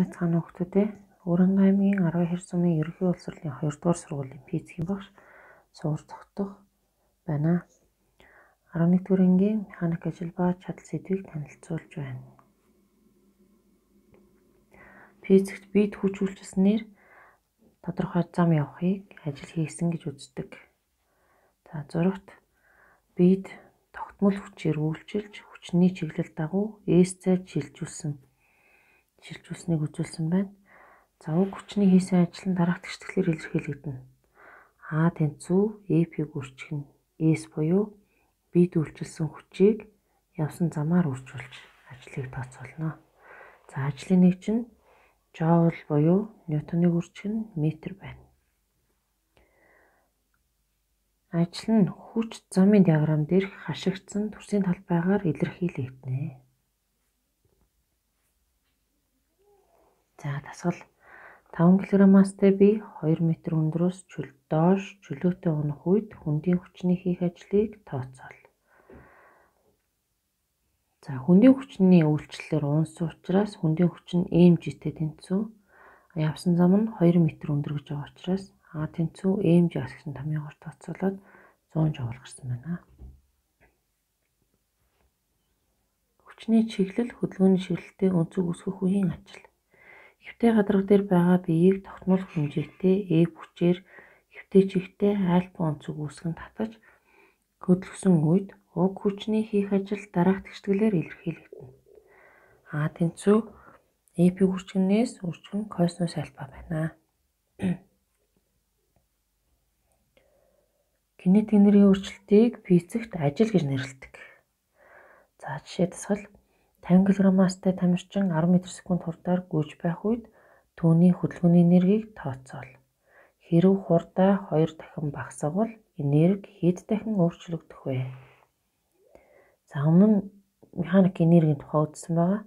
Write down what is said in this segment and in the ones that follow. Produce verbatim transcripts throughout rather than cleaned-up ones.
Байцгаана хүүхдүүд ээ. Өрөнгө аймгийн арван хэр сумын ерөнхий улсурлын хоёрдугаар сургуулийн физикийн багш суур тогтох байна. арван нэгдүгээр ангийн механик ажил ба чадал сэдвийг танилцуулж байна. Физикт бид хүч үйлчилснээр тодорхой зам явахыг ажил хийсэн гэж үздэг. За зурагт бид тогтмол хүчээр үйлчилж хүчний чиглэл дагуу S-цайд шилжүүлсэн шилжүүлснийг үзүүлсэн байна. За уг хүчний хийсэн ажил нь дараах тэгшлэлээр илэрхийлэгдэнэ. А тэнцүү F-ийг үржих нь S буюу бид үйлчилсэн хүчийг явсан замаар үржүүлж ажлыг тооцоолно. За ажлын нэг чинь Joule буюу Ньютоныг үржих нь метр байна. Ажил нь хүч замын диаграмм дээрх хашигдсан төрсийн талбайгаар илэрхийлэгдэнэ. За дасгал таван килограммастай бие хоёр метр өндрөөс доош чөлөөтэй унах үед хүндийн хүчний хийх ажлыг тооцоол. За хүндийн хүчний үйлчлэлээр унсан учраас хүндийн хүч нь mg-тэй тэнцүү. Явсан зам нь хоёр метр өндөр гэж байгаа учраас А тэнцүү mg асгсан томьёогоор тооцоолоод зуун жоул гарсан байна. Хүчний чиглэл хөдөлгөөний чиглэлтэй өнцөг үүсгэх үеийн ажил. Хэвтэй гадарга дээр байгаа биеийг тогтмол хэмжээтэй F хүчээр хэвтэй чигтээ альфа өнцөг үүсгэн татаж хөдөлгсөн үед уг хүчний хийх ажил дараах тэгшлэлээр илэрхийлэгдэнэ. А тэнцүү F-ийг үржигнээс үржих нь косинус альфа байна. Кинетик энергийн өөрчлөлтийг физикт ажил гэж нэрлэдэг. За жишээ дасгал тавин килограммастай тамирчин арван метр секунд хурдаар гүйж байх үед түүний хөдөлгөөний энергийг тооцоол. Хэрэв хурдаа хоёр дахин багасгавал энерги хэд дахин өөрчлөгдөх вэ? За өмнө нь механик энергийн тухай үзсэн байгаа.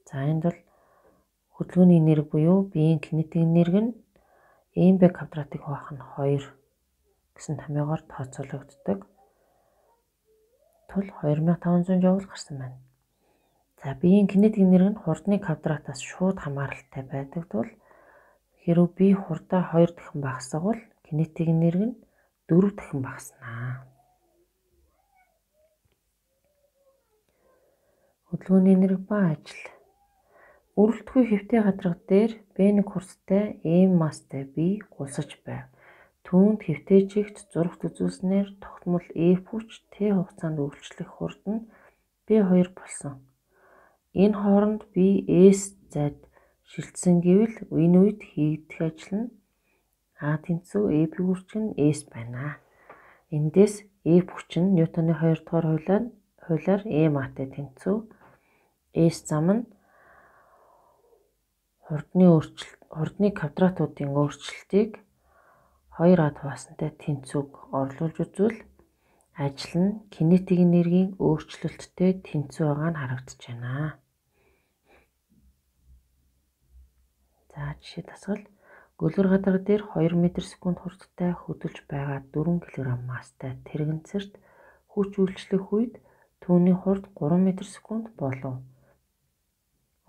За энд бол хөдөлгөөний энерги буюу биеийн кинетик энерги нь mb квадратыг хуваах нь хоёр гэсэн томьёогоор тооцоологддог. Тул хоёр мянган таван зуун жоул гарсан байна. За биеийн кинетик энерги нь хурдны квадратаас шууд хамааралтай байдаг тул хэрэв бие хурдаа хоёр дахин багасгавал кинетик энерги нь дөрөв дахин багаснаа. Хөдөлгөөний энерги ба ажил. Үргэлтгүй хэвтэй гадарга дээр бэ нэг хурцтай m масстай бие гулсаж байв. Түүнд хэвтэй чигт зурагт үзүүлснээр тогтмол F хүч T хугацаанд үйлчлэх хурд нь бэ хоёр болсон. Энэ хооронд бие S зайд шилжсэн гэвэл энэ үед хийгдэх ажил нь А тэнцүү F-ийг үржих нь S байна. Эндээс F хүч нь Ньютоны хоёр дахь хуулиар хуулиар ma-тай тэнцүү. S зам нь хурдны өөрчлөлт хурдны квадратуудын өөрчлөлтийг хоёр а хуваасантай тэнцүүг орлуулж үзвэл ажил нь кинетик энергийн өөрчлөлттэй тэнцүү байгаа нь харагдаж байна. За жишээ дасгал гөлгөр гадарга дээр хоёр метр секунд хурдтай хөдөлж байгаа дөрвөн килограмм масстай тэрэгэнцэрт хүч үйлчлэх үед түүний хурд гурван метр секунд болов.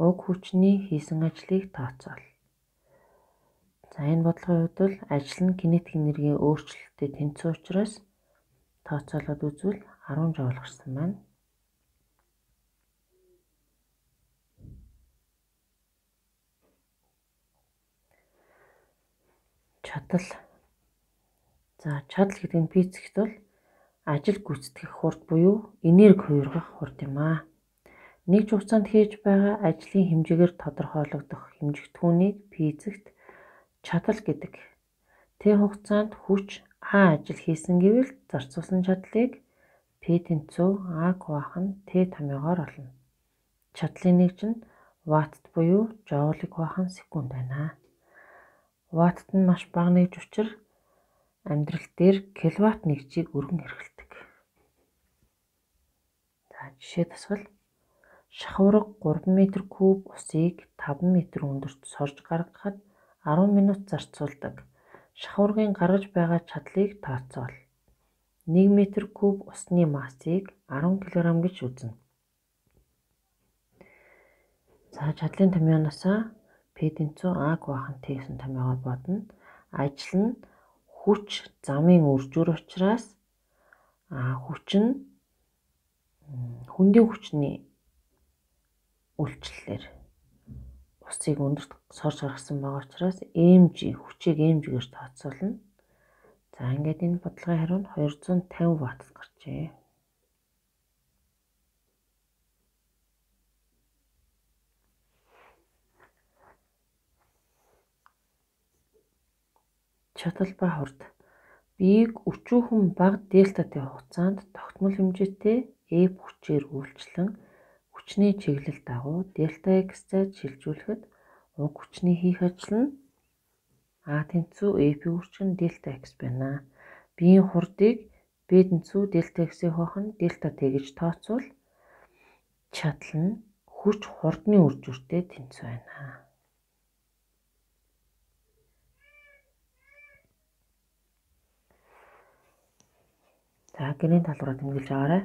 Уг хүчний хийсэн ажлыг тооцоол. За энэ бодлогын хувьд бол ажил нь кинетик энергийн өөрчлөлттэй тэнцүү учраас тооцоолоод үзвэл арван жоул гарсан байна. Чадал. За чадал гэдэг нь физикт бол ажил гүйцэтгэх хурд буюу энерги хувиргах хурд юм аа. Нэг ч хугацаанд хийж байгаа ажлын хэмжээгээр тодорхойлогдох хэмжигдэхүүнийг физикт чадал гэдэг. Тэ хугацаанд хүч А ажил хийсэн гэвэл зарцуулсан чадлыг P тэнцүү А-г хуваах нь T томьёогоор олно. Чадлын нэг чинь ваттт буюу жоулыг хуваах нь секунд байна. Ваттт нь маш бага нэгж учраас амьдрал дээр киловатт нэгжийг өргөн хэрэглэдэг. За жишээ дасгал шахуурга гурван метр куб усыг таван метр өндөрт сорж гаргахад арван минут зарцуулдаг. Шахуургын гаргаж байгаа чадлыг тооцоол. нэг метр куб усны массыг арван килограмм гэж үзнэ. За чадлын томьёоноос P тэнцүү А байх нь Т гэсэн томьёогоор бодно. Ажил нь хүч замын үржүүр учраас а хүч нь хүндийн хүчний үйлчлэлээр усыг өндөрт сорж гаргасан байгаа учраас mg хүчийг mg-гээр тооцоолно. За ингээд энэ бодлогын хариу нь хоёр зуун тавин ватт гарчээ. Чадал ба хурд. Биеийг өчүүхэн бага дельтатай хугацаанд тогтмол хэмжээтэй F хүчээр үйлчлэн хүчний чиглэл дагуу дельта X зайд шилжүүлэхэд уг хүчний хийх ажил нь А тэнцүү F-ийн хүч нь дельта X байна. Биеийн хурдыг B тэнцүү дельта X-ийг хоохон дельта T гэж тооцвол чадал нь хүч хурдны үржүүртэй тэнцүү байна. За гэрийн талбараа тэмдэглэж байгаарай.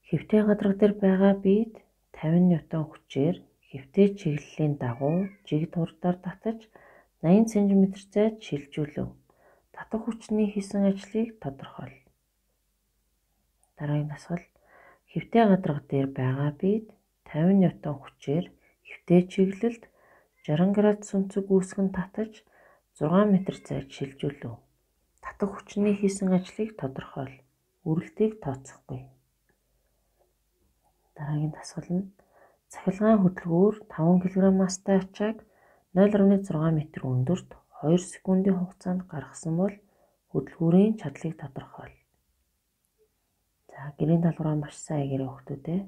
Хэвтэй гадарга дээр байгаа биед тавин ньютон хүчээр хэвтэй чиглэлийн дагуу жиг хурдаар татаж найман сантиметр зайд шилжүүлэв. Татах хүчний хийсэн ажлыг тодорхойл. Дараагийн дасгал. Хэвтэй гадарга дээр байгаа биед тавин ньютон хүчээр хэвтэй чиглэлд жарган градус өнцөг үүсгэн татаж зургаан метр зайд шилжүүлэв. Татах хүчний хийсэн ажлыг тодорхойл. Үрэлтийг тооцохгүй. Дараагийн дасгал нь цахилгаан хөдөлгүүр таван килограмм мастай ачааг нуль гаруй зургаан метр өндөрт хоёр секундын хугацаанд гаргасан бол хөдөлгүүрийн чадлыг тодорхойл. За гэрийн талбараа маш сайн игээрэй хүүхдүүд ээ.